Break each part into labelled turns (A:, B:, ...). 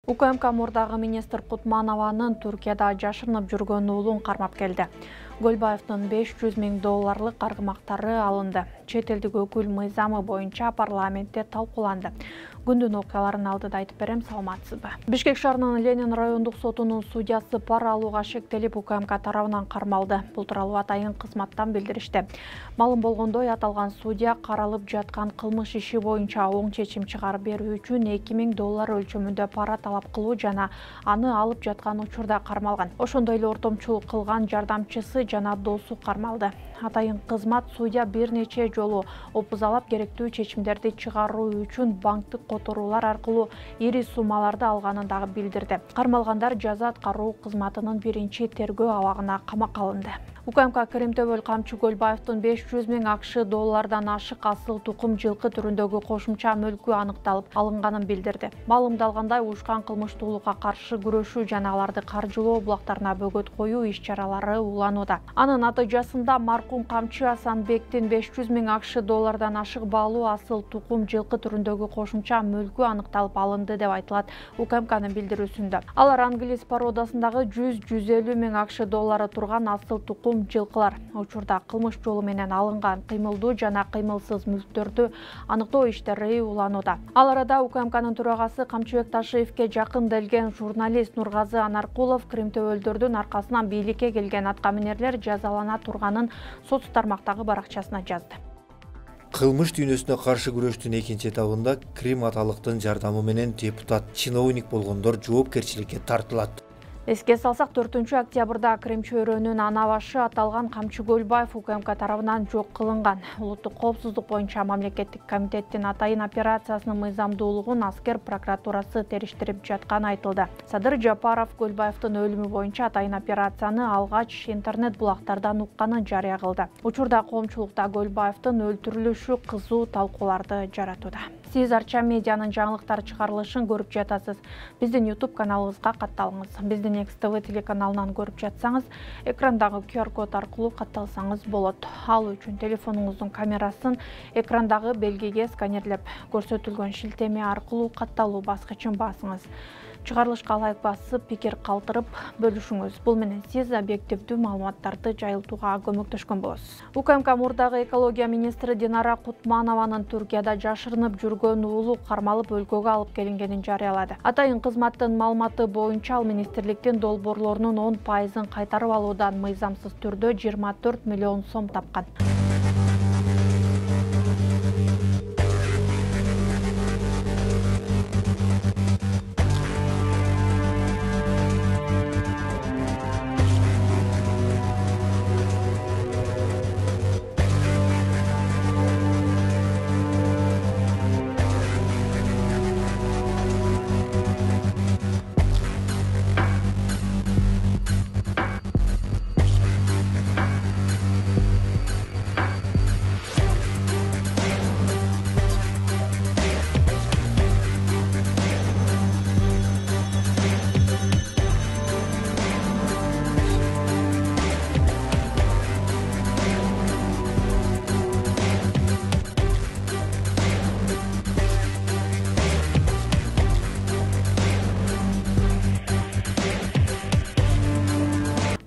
A: УКМК мурдагы министр Кутманованын Түркияда жашырынып жүргөн уулун кармап келди. Гөлбаевдин 500 000 долларлык каргымактары алынды. Чет элдик өкүл мыйзамы боюнча парламентте талкууланды. Күндүн окуяларын алдыда айтып берем, саламатсызбы? Бишкек шаарынын Ленин райондук сотунун судьясы пара алууга шектелип УКМК тарабынан кармалды. Бул тууралуу атайын кызматтан билдиришти. Маалым болгондой, аталган судья каралып жаткан кылмыш иши боюнча оң чечим чыгарып берүү үчүн 2000 доллар өлчөмүндө пара талап кылуу жана аны алып жаткан учурда кармалган. Ошондой эле ортомчулук кылган жардамчысы жана досу кармалды. Атайын кызмат судья бир нече жолу опузалап керектүү чечимдерди чыгаруу үчүн банктык которуулар аркылуу ири суммаларды алганын дагы билдирди. Кармалгандар жаза аткаруу кызматынын биринчи тергөө абагына камакка алынды. УКМК Кыримтөбөл камчы Гөлбаевдин 500 000 акш доллардан ашык асыл тукум жылкы түрүндөгү кошумча мүлкү аныкталып алынганын билдирди. Маалымдалгандай, уушкан кылмыштуулукка каршы күрөшүү жана аларды каржылоо булактарына бөгөт коюу иш-чаралары уланууда. Анын натыйжасында маркум камчы Асанбектин 500 000 акш доллардан ашык баалуу асыл тукум жылкы түрүндөгү кошумча мүлкү аныкталып алынды деп айтылат УКМКнын билдирүүсүндө. Алар англис породасындагы 100-150 000 акш доллары турган асыл тукум жылкылар. Учурда кылмыш жолу менен алынган кыймылдуу жана кыймылсыз мүлктөрдү аныктоо иштери уланууда. Ал арада УКМКнын төрагасы Камчыбек Ташиевке жакын келген журналист Нургазы Анаркулов Кыримтөбөлдөрдүн аркасынан бийликке келген аткаминерлер жазалана турганын соц тармактагы баракчасына жазды.
B: Кылмыш дүйнөсүнө каршы күрөштүн экинчи этабында Крим аталыктын жардамы менен депутат, чиновник болгондор жоопкерчиликке тартылат.
A: Эске салсак, 4-октябрда Крим чөйрөнүн ана башы аталган Камчы Гөлбаев УКМК тарабынан жок кылынган. Улуттук коопсуздук боюнча мамлекеттик комитеттин атайын операциясынын мыйзамдуулугун аскер прокуратурасы териштирип жатканы айтылды. Садыр Жапаров Гөлбаевдин өлүмү боюнча атайын операцияны алгач интернет булактардан укканын жарыя кылды. Учурда коомчулукта Гөлбаевдин өлтүрүлүшү кызуу талкууларды жаратууда. Сиз Арча медианын жаңылыктар чыгарылышын көрүп жатасыз. Биздин YouTube каналыбызга катталыңыз. Биздин XTV телеканалынан көрүп жатсаңыз, экрандагы QR код аркылуу катталсаңыз болот. Ал үчүн телефонуңуздун камерасын экрандагы белгиге сканерлеп, көрсөтүлгөн шилтеме аркылуу катталуу баскычын басыңыз. Чыгарылышка лайк басып, пикир калтырып бөлүшүңүз. Бул менен сиз объективдүү маалыматтарды жайылтууга көмөктөшкөн болосуз. УКМК мурдагы экология министри Динара Кутманованын Түркияда жашырынып жүргөн уулу кармалып өлкөгө алып келингенин жарыялады. Атайын кызматтын маалыматы боюнча, ал министрликтин долбоорлорунун 10%-ын кайтарып алуудан мыйзамсыз түрдө 24 миллион сом тапкан.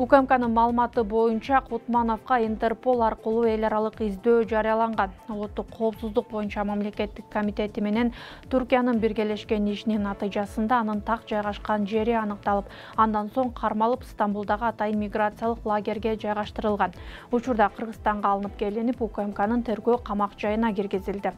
A: УКМКнын маалыматы боюнча Кутмановго Интерпол аркылуу эл аралык издөө жарыяланган. Улуттук коопсуздук боюнча мамлекеттик комитети менен Түркиянын биргелешкен ишинин натыйжасында анын так жайгашкан жери аныкталып, андан соң кармалып Стамбулдагы атайын миграциялык лагерге жайгаштырылган. Учурда Кыргызстанга алынып келинип, УКМКнын тергөө камак жайына киргизилди.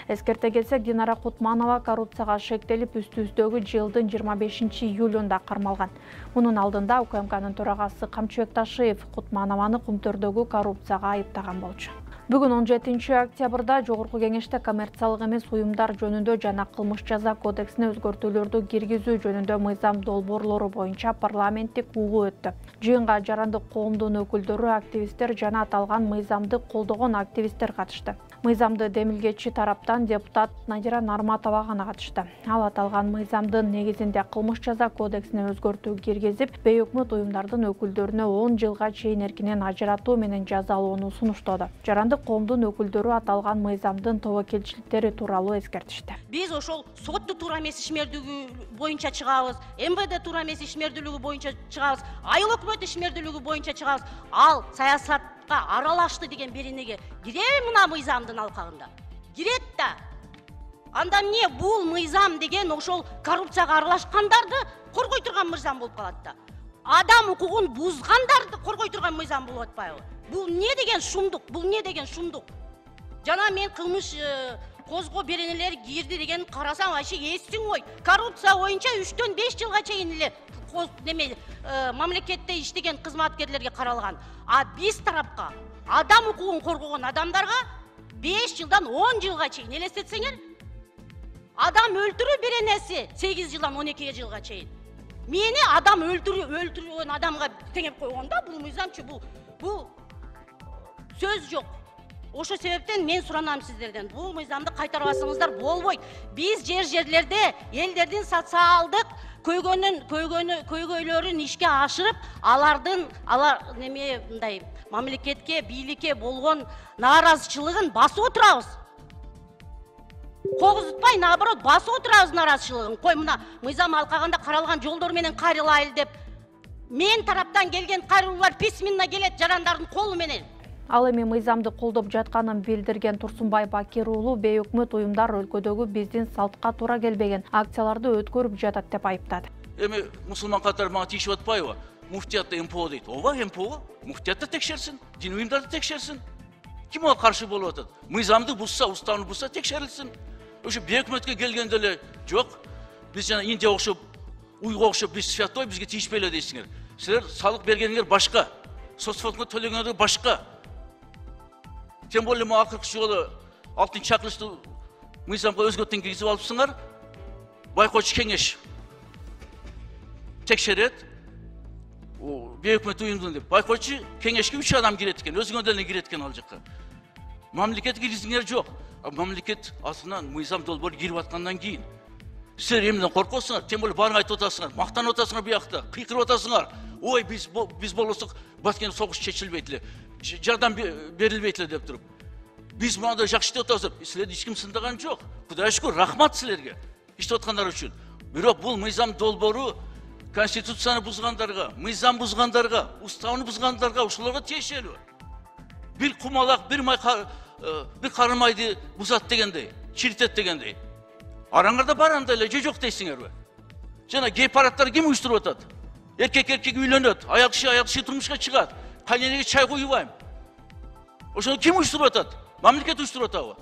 A: Эскерте кетсек, Динара Кутманова коррупцияга шектелип, үстүбүздөгү жылдын 25-июлунда кармалган. Мунун алдында УКМКнын төрагасы Камчыбек Ташиев Кутманованы Кумтөрдөгү коррупцияга айыптаган болчу. Бүгүн 17-октябрда Жогорку Кеңеште коммерциялык эмес уюмдар жөнүндө жана кылмыш жаза кодексине өзгөртүүлөрдү киргизүү жөнүндө мыйзам долбоорлору боюнча парламенттик угуу өттү. Жыйынга жарандык коомдун өкүлдөрү, активисттер жана аталган мыйзамды колдогон активисттер катышты. Мыйзамды демилгечи тараптан депутат Надира Нарматова гана катышты. Ал аталган мыйзамдын негизинде кылмыш жаза кодексине өзгөртүү киргизип, бейөкмөт уюмдардын өкүлдөрүнө 10 жылга чейин эркинен ажыратуу менен жазалоону сунуштоду. Жарандык коомдун өкүлдөрү аталган мыйзамдын тобокелчиликтери тууралуу эскертишти.
C: Биз ошол сотту туура эмес ишмердүүлүгү боюнча чыгабыз, МВД туура эмес ишмердүүлүгү боюнча чыгабыз, айыл өкмөт ишмердүүлүгү боюнча чыгабыз. Ал саясатка аралашты деген беренеге киреби мына мыйзамдын алкагында? Кирет да. Анда эмне бул мыйзам деген ошол коррупцияга аралашкандарды коргой турган мыйзам болуп калат да. Адам укугун бузгандарды коргой турган мыйзам болуп атпайбы? Бул эмне деген шумдук? Бул эмне деген шумдук? Жана мен кылмыш козго беренелер кирди деген карасам, вообще эстиң ой. Коррупция боюнча 3-төн 5 жылга чейин эле мамлекетте иштеген кызматкерлерге каралган. А биз тарапка адам укугун коргогон адамдарга 5 жылдан 10 жылга чейин элестетсеңер, адам өлтүрүү беренеси 8 жылдан 12 жылга чейин. Мени адам өлтүргөн адамга теңеп койгонда бул мыйзамчы, бул сөз жок. Ошо себептен мен суранам сиздерден, бул мыйзамды кайтарбасаңыздар болбойт. Биз жерлерде элдердин социалдык көйгөйлөрүн ишке ашырып, алар мындай мамлекетке, бийликке болгон нааразычылыгын басып отурабыз. Когузутпай, наоборот, басып отурабыз нааразычылыгын. Кой мына мыйзам алкагында каралган жолдор менен кайрылайлы деп. Мен тараптан келген кайрылуулар письменно келет жарандардын колу менен.
A: Ал эми мыйзамды колдоп жатканын билдирген Турсунбай Бакир уулу бейөкмөт уюмдар өлкөдөгү биздин салтка туура келбеген акцияларды өткөрүп жатат деп айыптады.
D: Эми мусулман катары мага тийишип атпайбы? Муфтиятта МПО дейт. Ооба, МПО. Муфтиятта текшерсин, дин уюмдарды текшерсин. Ким ага каршы болуп атат? Мыйзамды бузса, уставны бузса текшерилсин. Ошо бейөкмөткө келгенде эле жок. Биз жана Индия окшоп, Уйга окшоп биз святой, бизге тийишпей эле дейсиңер. Силер салык бергениңер башка, соцфондго төлөгөнүңөр башка. Тем более ма акыркы жолу 6-чакырышты мыйзамга өзгөртүүнү киргизип алыпсыңар. Байкоочу кеңеш текшерет. Бейөкмөт уюмдун деп. Байкоочу кеңешке 3 адам кирет экен, өзүңөр деле кирет экен ал жакка. Мамлекет киргизиңер жок. Мамлекет асынан мыйзам долбоор кирип аткандан кийин силер эмнеден коркосуңар? Тем более баарын айтып атасыңар, мактанып атасыңар буякта, кыйкырып атасыңар. Ой, биз болсок Баткен согуш чечилбейт эле. Жардам берилбейт эле деп туруп. Биз мындай жакшы деп атабыз. Силерди эч ким сындаган жок. Кудайга шүкүр, рахмат силерге иштеп аткандар үчүн. Бирок бул мыйзам долбоору конституцияны бузгандарга, мыйзам бузгандарга, уставны бузгандарга, ошолорго тиешелүү. Бир кумалак, бир карымайды бузат дегендей, чиритет дегендей. Араңарда бар анда эле же жок дейсиңерби? Жана гей парадтар ким уюштуруп атат? Эркек үйлөнөт, аял киши турмушка чыгат. Кайненеге чай куйбайм. Ошону ким уюштуруп атат? Мамлекет уюштуруп атабы?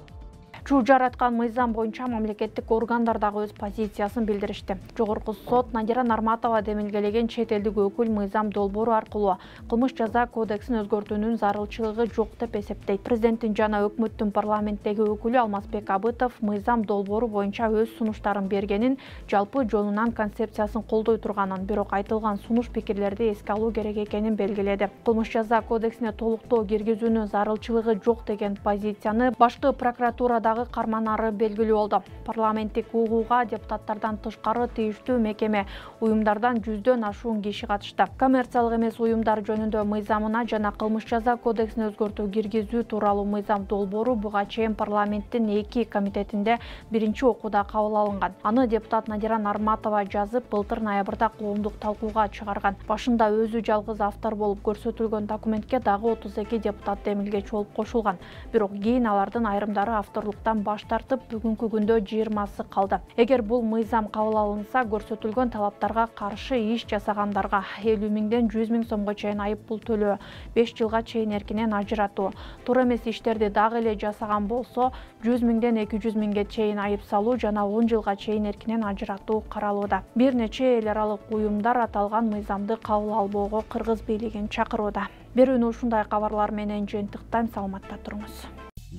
A: Чуу жараткан мыйзам боюнча мамлекеттик органдар дагы өз позициясын билдиришти. Жогорку сот Надира Нарматова демилгелеген чет элдик өкүл мыйзам долбоору аркылуу кылмыш жаза кодексин өзгөртүүнүн зарылчылыгы жок деп эсептейт. Президенттин жана өкмөттүн парламенттеги өкүлү Алмазбек Абытов мыйзам долбоору боюнча өз сунуштарын бергенин, жалпы жонунан концепциясын колдой турганын, бирок айтылган сунуш пикирлерди эске алуу керек экенин белгиледи. Кылмыш жаза кодексине толуктоо киргизүүнүн зарылчылыгы жок деген позицияны башкы прокуратурадагы карманары белгилүү болду. Парламенттик угууга депутаттардан тышкары тийиштүү мекеме уюмдардан 100дөн ашуун киши катышты. Коммерциялык эмес уюмдар жөнүндө мыйзамына жана кылмыш жаза кодексине өзгөртүү киргизүү тууралуу мыйзам долбоору буга чейин парламенттин 2 комитетинде биринчи окууда кабыл алынган. Аны депутат Надира Нарматова жазып, былтыр ноябрда коомдук талкууга чыгарган. Башында өзү жалгыз автор болуп көрсөтүлгөн документке дагы 32 депутат демилгечи болуп кошулган. Бирок кийин алардын айрымдары авторлуктан баш тартып, бүгүнкү күндө 20сы калды. Эгер бул мыйзам кабыл алынса, көрсөтүлгөн талаптарга каршы иш жасагандарга 50 миңден 100 миң сомго чейин айып пул төлөө, 5 жылга чейин эркинен ажыратуу, туура эмес иштерди дагы эле жасаган болсо 100 миңден 200 миңге чейин айып салуу жана 10 жылга чейин эркинен ажыратуу каралууда. Бир нече эл аралык уюмдар аталган мыйзамды кабыл албоого кыргыз бийлигин чакырууда. Берүүнү ушундай кабарлар менен жыйынтыктайм, саламатта туруңуз.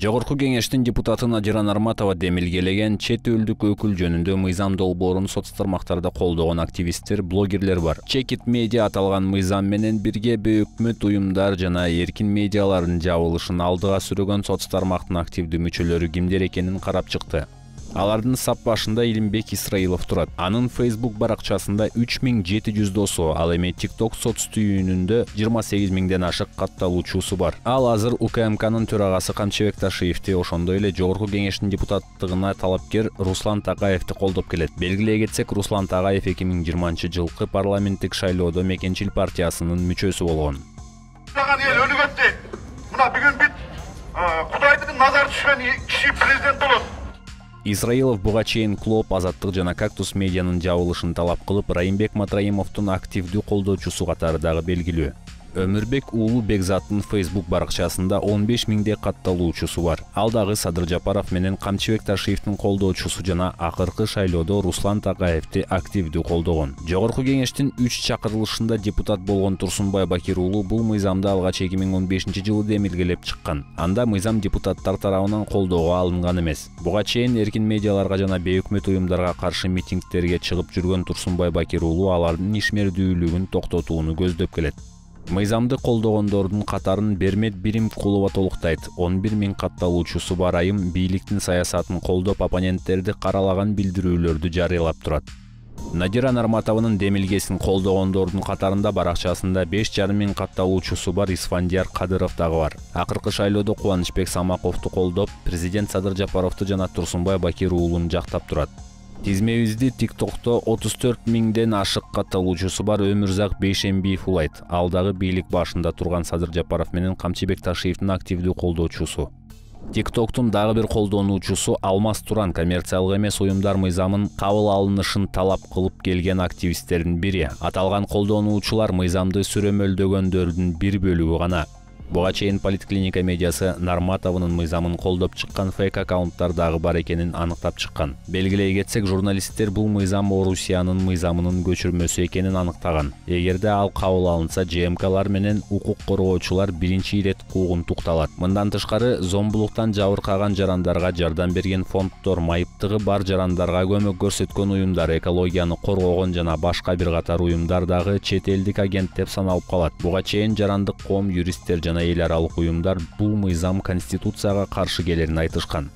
E: Жогорку кеңештин депутаты Надира Нарматова демилгелеген чет элдик өкүл жөнүндө мыйзам долбоорун соц тармактарда колдогон активисттер, блогерлер бар. Чекит медиа аталган мыйзам менен бирге бейөкмөт уюмдар жана эркин медиалардын жабылышын алдыга сүрөгөн соц тармактын активдүү мүчөлөрү кимдер экенин карап чыкты. Алардын сап башында Илимбек Исраилов турат. Анын Facebook баракчасында 3700 досу, ал эми TikTok соц түйүнүндө 28 000ден ашык катталуучусу бар. Ал азыр УКМКнын төрагасы Камчыбек Ташиевди, ошондой эле Жогорку кеңештин депутаттыгына талапкер Руслан Такаевди колдоп келет. Белгилей кетсек, Руслан Такаев 2020-жылкы парламенттик шайлоодо Мекенчил партиясынын мүчөсү болгон.
F: Эл өлүп кетти. Мына бүгүн бүт Кудайдын назары түшкөн киши президент болот.
E: Исраилов буга чейин Клоп, Азаттык жана Кактус медианын жабылышын талап кылып, Райымбек Матраимовдун активдүү колдоочусу катары дагы белгилүү. Өмүрбек уулу Бекзаттын Facebook баракчасында 15 000де катталуучусу бар. Ал дагы Садыр Жапаров менен Камчыбек Ташиевдин колдоочусу жана акыркы шайлоодо Руслан Такаевди активдүү колдогон. Жогорку кеңештин 3 чакырылышында депутат болгон Турсунбай Бакир уулу бул мыйзамды алгач 2015-жылы демилгелеп чыккан. Анда мыйзам депутаттар тарабынан колдоого алынган эмес. Буга чейин эркин медиаларга жана бейөкмөт уюмдарга каршы митингдерге чыгып жүргөн Турсунбай Бакир уулу алардын ишмердүүлүгүн токтотууну көздөп келет. Мыйзамды колдогондордун катарын Бермет Биримкулова толуктайт. 11 000 катталуучусу бар айым бийликтин саясатын колдоп оппоненттерди каралаган билдирүүлөрдү жарыялап турат. Надира Нарматованын демилгесин колдогондордун катарында баракчасында 5,5 000 катталуучусу бар Исфандияр Кадыров дагы бар. Акыркы шайлоодо Кубанычбек Самаковду колдоп, президент Садыр Жапаровду жана Турсунбай Бакир уулун жактап турат. Тизмебизди TikTok'то 34 000ден ашык катталуучусу бар Өмүрзак Бейшембиев улайт. Ал дагы бийлик башында турган Садыр Жапаров менен Камчыбек Ташиевдин активдүү колдоочусу. TikTok'тун дагы бир колдонуучусу Алмаз Туран коммерциялык эмес уюмдар мыйзамын кабыл алынышын талап кылып келген активисттердин бири. Аталган колдонуучулар мыйзамды сүрөмөлдөгөндөрдүн бир бөлүгү гана. Буга чейин Политклиника медиасы Нарматованын мыйзамын колдоп чыккан фейк аккаунттар дагы бар экенин аныктап чыккан. Белгилей кетсек, журналисттер бул мыйзам Орусиянын мыйзамынын көчүрмөсү экенин аныктаган. Эгерде ал кабыл алынса, ЖМКлар менен укук коргоочулар биринчи ирет куугун тукталат. Мындан тышкары, зомбулуктан жабыркаган жарандарга жардам берген фонддор, майыптыгы бар жарандарга көмөк көрсөткөн уюмдар, экологияны коргогон жана башка бир катар уюмдар дагы чет элдик агент деп саналып калат. Буга чейин жарандык коом, юристтер жана эл аралык уюмдар бул мыйзам конституцияга каршы келерин айтышкан.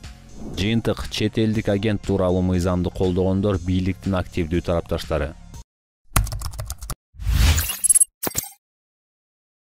E: Жыйынтык: чет элдик агент тууралуу мыйзамды колдогондор бийликтин активдүү тарапташтары.